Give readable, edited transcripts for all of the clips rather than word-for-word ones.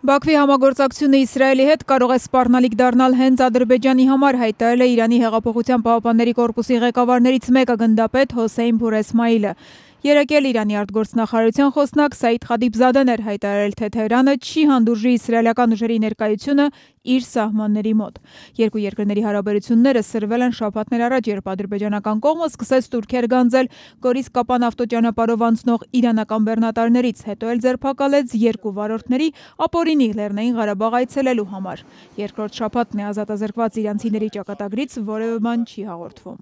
Բաքվի համագործակցությունը Իսրայելի հետ կարող է սպառնալիք դառնալ հենց Ադրբեջանի համար, հայտարարել է Իրանի հեղափոխության պահապանների կորպուսի ղեկավարներից մեկը գնդապետ Հոսեյն Փուր Էսմայիլը։ Երեկ էլ Իրանի արտգործնախարարության խոսնակ Սաիդ Խադիբզադեն էր հայտարարել, թե Թեհրանը չի հանդուրժի իսրայելական ուժերի ներկայությունը իր սահմանների մոտ։ Երկու երկրների հարաբերությունները սրվել են շաբաթներ առաջ, երբ ադրբեջանական կողմը սկսեց տուրքեր գանձել Գորիս-Կապան ավտոճանապարհով անցնող իրանական բեռնատարներից, հետո էլ ձերբակալեց երկու վարորդների ապօրինի Լեռնային Ղարաբաղ այցելելու համար։ Երկրորդ շաբաթն է ազատազրկված իրանցիների ճակատագրից որևէ բան չի հաղորդվում։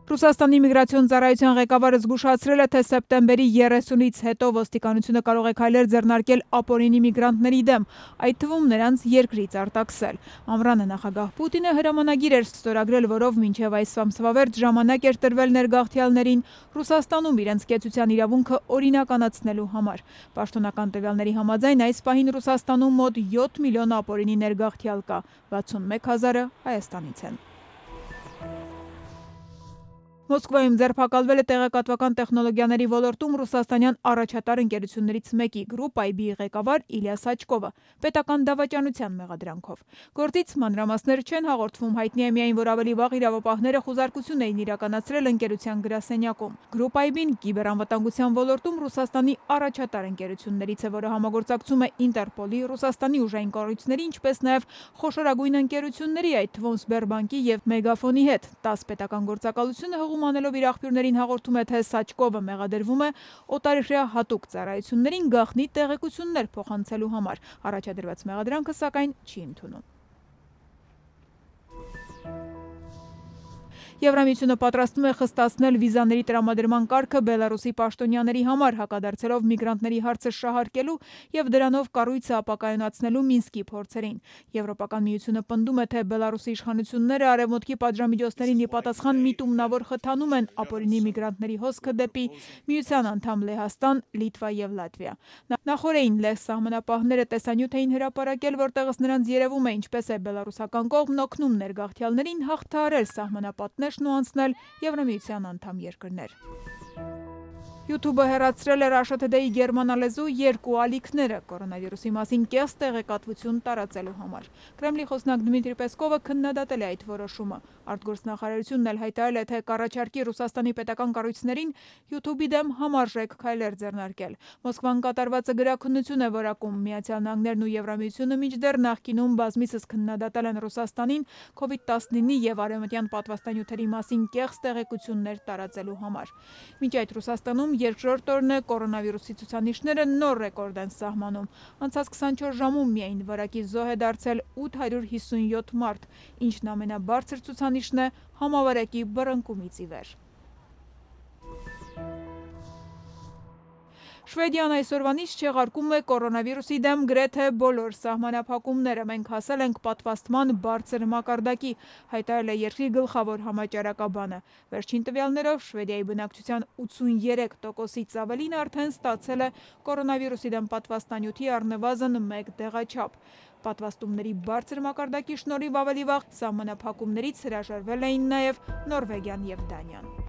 Ռուսաստանի միգրացիոն ծառայության ղեկավարը զգուշացրել է, թե սեպտեմբերի 30-ից հետո ոստիկանությունը կարող է քայլեր ձեռնարկել ապօրինի միգրանտների դեմ, այդ թվում նրանց երկրից արտաքսել։ Ամռանը նախագահ Պուտինը հրամանագիր էր ստորագրել, որով մինչև այս ամսվա վերջ ժամանակ էր տրվել ներգաղթյալներին Ռուսաստանում իրենց կեցության իրավունքը օրինականացնելու համար։ Պաշտոնական տվյալների համաձայն այս պահին Ռուսաստանում մոտ 7 միլիոն ապօրինի ներգաղթյալ կա, 61 հազարը Հայաստանից են։ Մոսկվայում ձերբակալվել է տեղեկատվական տեխնոլոգիաների ոլորտում ռուսաստանյան առաջատար ընկերություններից մեկի Group IB-ի ղեկավար Իլյա Սաչկովը պետական դավաճանության մեղադրանքով։ Գործից մանրամասներ չեն հաղորդվում, հայտնի է միայն, որ ավելի վաղ իրավապահները խուզարկություն էին իրականացրել ընկերության գրասենյակում։ Group IB-ն կիբերանվտանգության ոլորտում Ռուսաստանի առաջատար ընկերություններից է, որը համագործակցում է Ինտերպոլի, Ռուսաստանի ուժային կառույցների, ինչպես նաև խոշորագույն ընկերությունների, այդ թվում Սբերբանկի և Մեգաֆոնի հետ։ 10 պետական գործակալությունը անելով իր աղբյուրներին հաղորդում է, թե Սաչկովը մեղադրվում է օտարերկրյա հատուկ ծառայություններին գաղտնի տեղեկություններ փոխանցելու համար։ Առաջադրված մեղադրանքը, սակայն, չի ընդունում։ Եվրամիությունը պատրաստվում է խստացնել վիզաների տրամադրման կարգը Բելարուսի պաշտոնյաների համար, հակադարձելով միգրանտների հարցը շահարկելու եւ դրանով կառույցը ապակայունացնելու Մինսկի փորձերին։ Եվրոպական միությունը պնդում է, թե Բելարուսի իշխանությունները արևմուտքի պատժամիջոցներին ի պատասխան միտումնավոր խթանում են ապօրինի միգրանտների հոսքը դեպի միության անդամ Լեհաստան, Լիտվա եւ Լատվիա։ Նախորդին լեհ սահմանապահները տեսանյութ էին հրապարակել, որտեղից նրանց երևում է, ինչպես է բելարուսական կողմն օգնում ներգաղթյալներին հաղթահարել սահմանապատներն ու անցնել Եվրամիության անդամ երկրներ։ YouTube-ը հեռացրել է Russia Today-ի գերմանալեզու երկու ալիքները կորոնավիրուսի մասին կեղծ տեղեկատվություն տարածելու համար։ Կրեմլի խոսնակ Դմիտրի Պեսկովը քննադատել է այդ որոշումը։ Արտգործնախարարությունն էլ հայտարարել է, թե կառաջարկի Ռուսաստանի պետական կառույցներին YouTube-ի դեմ համարժեք քայլեր ձեռնարկել։ Մոսկվան կատարվածը գրաքննություն է որակում։ Միացյալ Նահանգներն ու Եվրամիությունը մինչդեռ նախկինում բազմիցս քննադատել են Ռուսաստանին COVID-19-ի եւ արևմտյան պատվաստանյութերի մասին կեղծ տեղեկություններ տարածելու համար։ Մինչ այդ Ռուսաստանում երկրորդ օրն է կորոնավիրուսի ցուցանիշները նոր ռեկորդ են սահմանում։ Անցած 24 ժամում միայն վարակի զոհ է դարձել 857 մարդ, ինչն ամենաբարձր ցուցանիշն է համավարակի բռնկումից ի վեր։ Շվեդիան այսօրվանից չեղարկում է կորոնավիրուսի դեմ գրեթե բոլոր սահմանափակումները։ Մենք հասել ենք պատվաստման բարձր մակարդակի, հայտարարել է երկրի գլխավոր համաճարակաբանը։ Վերջին տվյալներով Շվեդիայի բնակչության 83%-ից ավելին արդեն ստացել է կորոնավիրուսի դեմ պատվաստանյութի առնվազն 1 դեղաչափ։ Պատվաստումների բարձր մակարդակի շնորհիվ ավելի վաղ սահմանափակումներից հրաժարվել էին նաև Նորվեգիան եւ Դանիան։